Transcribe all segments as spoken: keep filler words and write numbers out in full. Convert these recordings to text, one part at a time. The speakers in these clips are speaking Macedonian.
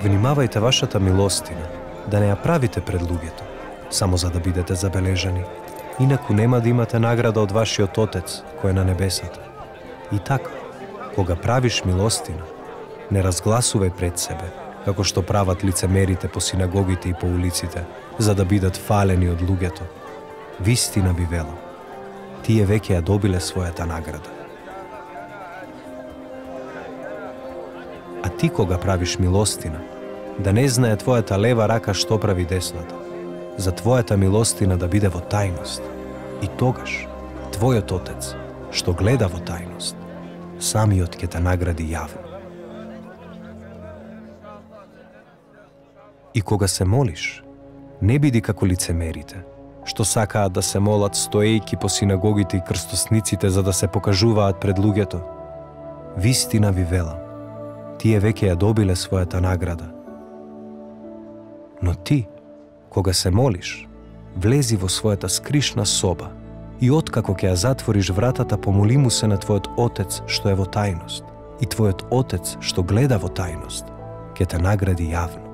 Внимавајте вашата милостина, да не ја правите пред луѓето, само за да бидете забележани. Инаку нема да имате награда од вашиот Отец, кој е на небесата. И така, кога правиш милостина, не разгласувај пред себе, како што прават лицемерите по синагогите и по улиците, за да бидат фалени од луѓето. Вистина ви велам, тие веќе ја добиле својата награда. А ти кога правиш милостина, да не знае твојата лева рака што прави десната, за твојата милостина да биде во тајност. И тогаш, твојот Отец, што гледа во тајност, самиот ќе те награди јавно. И кога се молиш, не биди како лицемерите, што сакаат да се молат стоејки по синагогите и крстосниците за да се покажуваат пред луѓето. Вистина ви велам, тие веќе ја добиле својата награда. Но ти, кога се молиш, влези во својата скришна соба и откако ќе ја затвориш вратата, помоли му се на твојот Отец што е во тајност, и твојот Отец што гледа во тајност, ќе те награди јавно.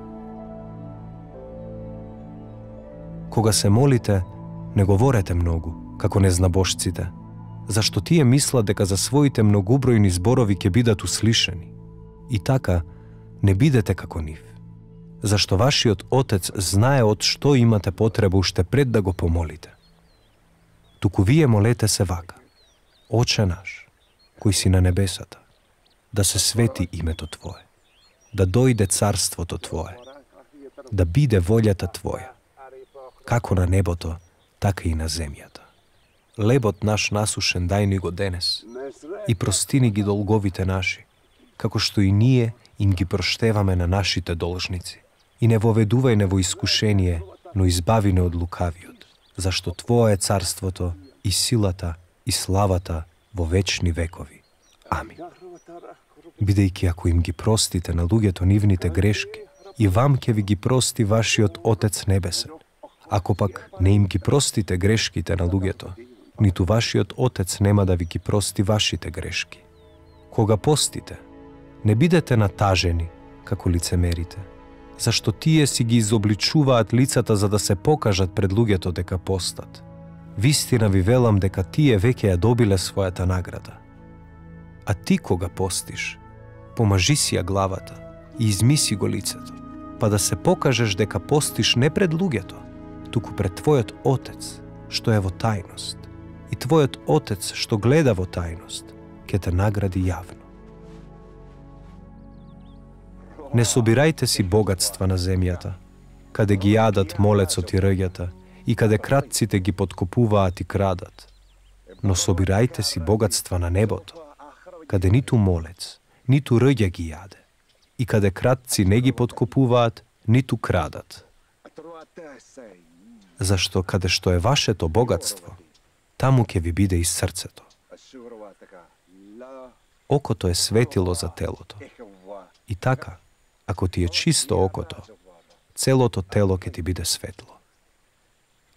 Кога се молите, не говорете многу, како незнабожците, зашто тие мислат дека за своите многубројни зборови ќе бидат услишани. И така, не бидете како нив, зашто вашиот Отец знае од што имате потреба уште пред да го помолите. Туку вие молете се вака: Оче наш, кој си на небесата, да се свети името Твое, да дојде царството Твое, да биде волјата Твоја, како на небото, така и на земјата. Лебот наш насушен дај ни го денес и простини ги долговите наши, како што и ние им ги проштеваме на нашите должници. И не воведувај не во искушение, но избави не од лукавиот, зашто Твое е царството и силата и славата во вечни векови. Амин. Бидејќи ако им ги простите на луѓето нивните грешки, и вам ќе ви ги прости вашиот Отец небесен. Ако пак не им ги простите грешките на луѓето, ниту вашиот Отец нема да ви ги прости вашите грешки. Кога постите, не бидете натажени, како лицемерите, зашто тие си ги изобличуваат лицата за да се покажат пред луѓето дека постат. Вистина ви велам дека тие веќе ја добиле својата награда. А ти кога постиш, помажи си ја главата и измиси го лицето, па да се покажеш дека постиш не пред луѓето, туку пред твојот Отец, што е во тајност. И твојот Отец, што гледа во тајност, ќе те награди јавно. Не собирајте си богатства на земјата, каде ги јадат молецот и рѓата, и каде кратците ги подкопуваат и крадат. Но собирајте си богатства на небото, каде ниту молец, ниту рѓа ги јаде, и каде кратци не ги подкопуваат, ниту крадат. Зашто каде што е вашето богатство, таму ќе ви биде и срцето. Окото е светило за телото. И така, ако ти е чисто окото, целото тело ќе ти биде светло.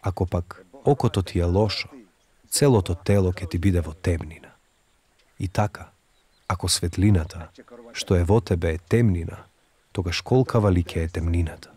Ако пак окото ти е лошо, целото тело ќе ти биде во темнина. И така, ако светлината, што е во тебе е темнина, тогаш колкава ли ќе е темнината?